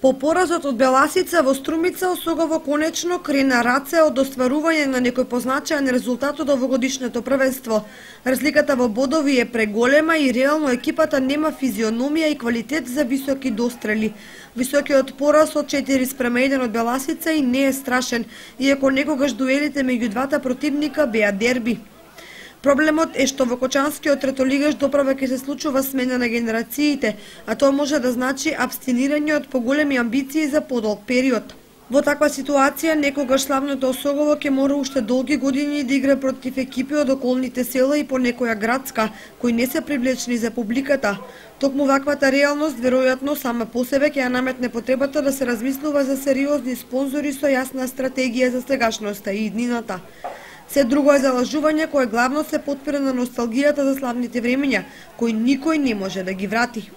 По поразот од Беласица во Струмица, Осогово конечно крена раце од остварување на некој позначаен резултат од овогодишното првенство. Разликата во бодови е преголема и реално екипата нема физиономија и квалитет за високи дострели. Високиот пораз од 4:1 од Беласица и не е страшен, иако некогаш дуелите меѓу двата противника беа дерби. Проблемот е што во Кочанскиот третолигаш доправа ќе се случува смена на генерациите, а тоа може да значи абстинирање од поголеми амбиции за подолг период. Во таква ситуација, некогаш славното Осогово ќе мора уште долги години да игра против екипи од околните села и по некоја градска, кои не се привлечни за публиката. Токму ваквата реалност, веројатно, сама по себе ќе ја наметне потребата да се размислува за сериозни спонзори со јасна стратегија за сегашноста и иднината. Се друго е залажување кое главно се потпира на носталгијата за славните времења, кои никој не може да ги врати.